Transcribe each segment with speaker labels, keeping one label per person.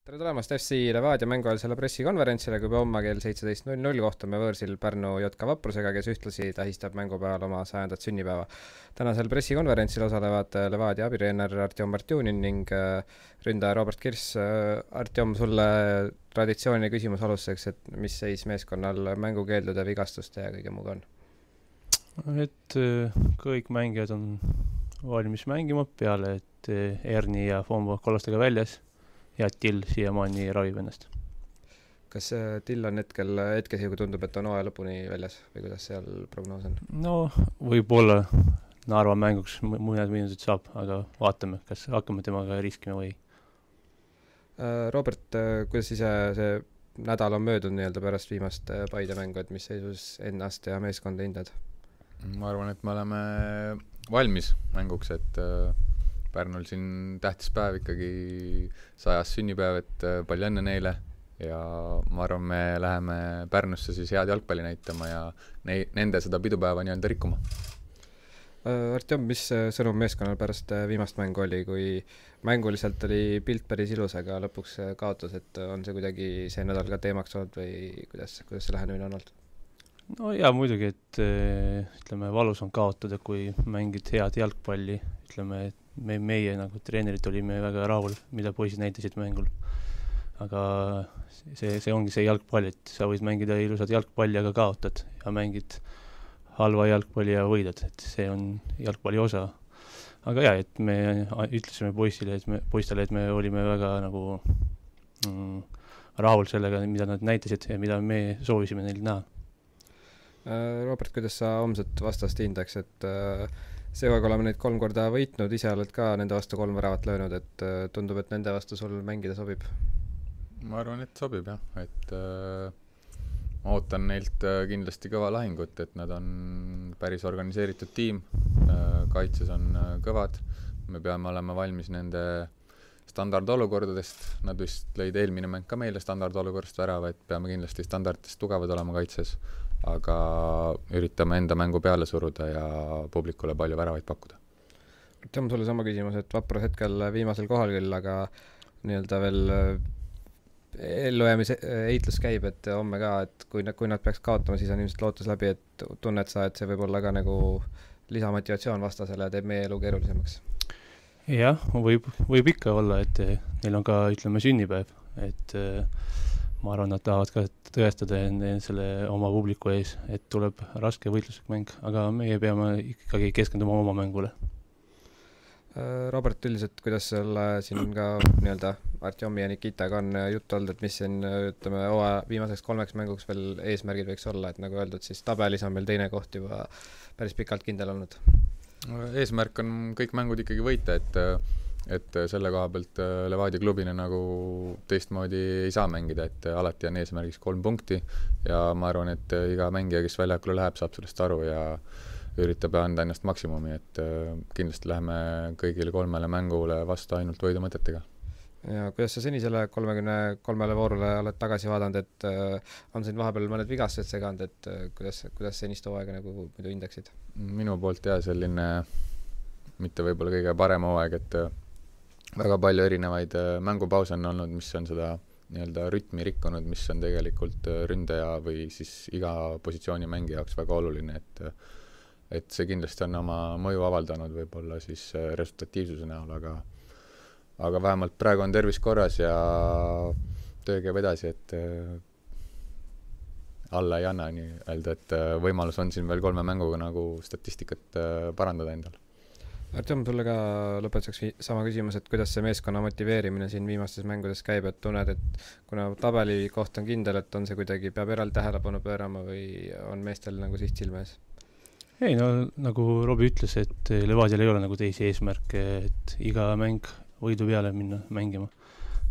Speaker 1: Tere tulemast FC Levadia mänguajalisele pressikonverentsile, kui homme kell 17.00 kohtume võõrsil Pärnu JK Vaprusega, kes ühtlasi tähistab mängupäeval oma 100. sünnipäeva. Tänasel pressikonverentsil osalevad Levadia abitreener Artjom Martjunin ning ründaja Robert Kirss. Artjom, sulle traditsiooniline küsimus alustuseks, et mis seis meeskonnal mängukeeldude, vigastuste ja kõige muuga on?
Speaker 2: Et kõik mängijad on valmis mängima peale, et Erni ja Fombo kollastega väljas ja Till siiamaani ravib ennast.
Speaker 1: Kas Till on hetkesega tundub, et on hooaja lõpuni väljas või kuidas seal prognoos on?
Speaker 2: No võib-olla Narva mänguks mõned minutid saab, aga vaatame, kas hakkame temaga riskima või.
Speaker 1: Robert, kuidas ise see nädal on möödunud nii-öelda pärast viimast Paide mängu, et mis seisus ennast ja meeskonda hindad?
Speaker 3: Ma arvan, et me oleme valmis mänguks, et Pärnul siin tähtis päev ikkagi 100. sünnipäev, et palju õnne neile ja ma arvan, me läheme Pärnusse siis head jalgpalli näitama ja nende seda pidupäeva nii-öelda rikkuma.
Speaker 1: Artjom, mis sõnum meeskonnal pärast viimast mängu oli, kui mänguliselt oli pilt päris ilus, aga lõpuks kaotus, et on see kuidagi see nädal ka teemaks olnud või kuidas see lähenemine on olnud?
Speaker 2: No jaa, muidugi, et ütleme, valus on kaotada, kui mängid head jalgpalli, ütleme, et meie nagu treenerid olime väga rahul, mida poisid näitasid mängul. Aga see ongi see jalgpall, et sa võid mängida ilusad jalgpalli, aga kaotad ja mängid halva jalgpalli ja võidad, et see on jalgpalli osa. Aga jah, et me ütlesime poistele, et me olime väga nagu rahul sellega, mida nad näitasid ja mida me soovisime neil näha.
Speaker 1: Robert, kuidas sa homset vastast hindaks, et seega oleme neid 3 korda võitnud, ise oled ka nende vastu 3 väravat löönud, et tundub, et nende vastu sul mängida sobib?
Speaker 3: Ma arvan, et sobib jah, et ma ootan neilt kindlasti kõva lahingut, et nad on päris organiseeritud tiim, kaitses on kõvad, me peame olema valmis nende standardolukordadest, nad vist lõid eelmine mäng ka meile standardolukorrast värava, et peame kindlasti standardist tugevad olema kaitses, aga üritame enda mängu peale suruda ja publikule palju väravaid pakkuda.
Speaker 1: See on sulle sama küsimus, et Vaprus hetkel viimasel kohal küll, aga nii-öelda veel ellujäämise heitlus käib, et homme ka, et kui nad peaks kaotama, siis on ilmselt lootus läbi, et tunned sa, et see võib olla ka nagu lisamotivatsioon vastasele ja teeb meie elu keerulisemaks?
Speaker 2: Jah, võib ikka olla, et neil on ka, ütleme, sünnipäev, et ma arvan, nad tahavad ka tõestada selle oma publiku ees, et tuleb raske võitluslik mäng, aga meie peame ikkagi keskenduma oma mängule.
Speaker 1: Robert, üldiselt, kuidas selle siin ka nii-öelda Artjomi ja Nikitaga on juttu olnud, et mis siin, ütleme, viimaseks 3 mänguks veel eesmärgid võiks olla, et nagu öeldud, siis tabelis on meil 2. koht juba päris pikalt kindel olnud.
Speaker 3: Eesmärk on kõik mängud ikkagi võita, et selle koha pealt Levadia klubina nagu teistmoodi ei saa mängida, et alati on eesmärgiks 3 punkti ja ma arvan, et iga mängija, kes väljakule läheb, saab sellest aru ja üritab anda ennast maksimumi, et kindlasti läheme kõigile 3 mängule vastu ainult võidu mõtetega.
Speaker 1: Ja kuidas sa senisele 33 voorule oled tagasi vaadanud, et on siin vahepeal mõned vigastused seganud, et kuidas senist hooaega nagu muidu hindaksid?
Speaker 3: Minu poolt selline mitte võib-olla kõige parem hooaeg, et väga palju erinevaid mängupause on olnud, mis on seda nii-öelda rütmi rikkunud, mis on tegelikult ründaja või siis iga positsiooni mängi jaoks väga oluline, et see kindlasti on oma mõju avaldanud võib-olla siis resultatiivsuse näol, aga vähemalt praegu on tervis korras ja töö käib edasi, et alla ei anna nii öelda, et võimalus on siin veel 3 mänguga nagu statistikat parandada endal.
Speaker 1: Artjom, sulle ka lõpetuseks sama küsimus, et kuidas see meeskonna motiveerimine siin viimastes mängudes käib, et tunned, et kuna tabeli koht on kindel, et on see kuidagi, peab eraldi tähelepanu pöörama või on meestel nagu siht silme ees?
Speaker 2: Ei, no nagu Robi ütles, et Levadial ei ole nagu teisi eesmärke, et iga mäng võidu peale minna mängima.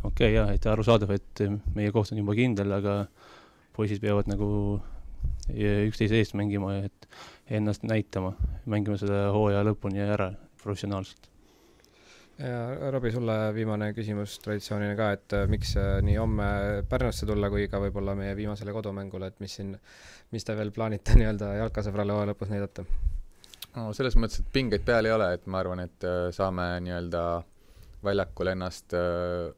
Speaker 2: Okei, jah, et arusaadav, et meie koht on juba kindel, aga poisid peavad nagu üksteise eest mängima, et ennast näitama, mängima seda hooaja lõpuni ära professionaalselt.
Speaker 1: Ja Robi, sulle viimane küsimus traditsioonina ka, et miks nii homme Pärnusse tulla kui ka võib-olla meie viimasele kodumängule, et mis te veel plaanite nii-öelda jalkasõbrale hooaja lõpus näidata?
Speaker 3: No, selles mõttes, et pingeid peal ei ole, et ma arvan, et saame nii-öelda väljakul ennast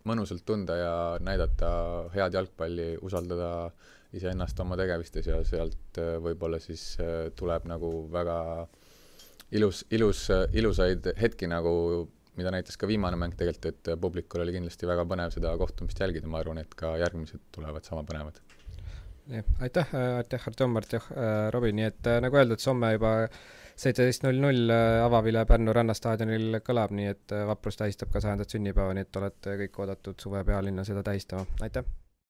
Speaker 3: mõnusalt tunda ja näidata head jalgpalli, usaldada iseennast oma tegevistes ja sealt võib-olla siis tuleb nagu väga ilusaid hetki nagu, mida näitas ka viimane mäng tegelikult, et publikul oli kindlasti väga põnev seda kohtumist jälgida, ma arvan, et ka järgmised tulevad sama põnevad.
Speaker 1: Aitäh Artjom, Robin, nii et nagu öeldud, somme juba 17.00 avavile Pärnu Rannastaadionil kõlab, nii et Vaprus tähistab ka 100. sünnipäeva, nii et olete kõik oodatud suve pealinna seda tähistama. Aitäh!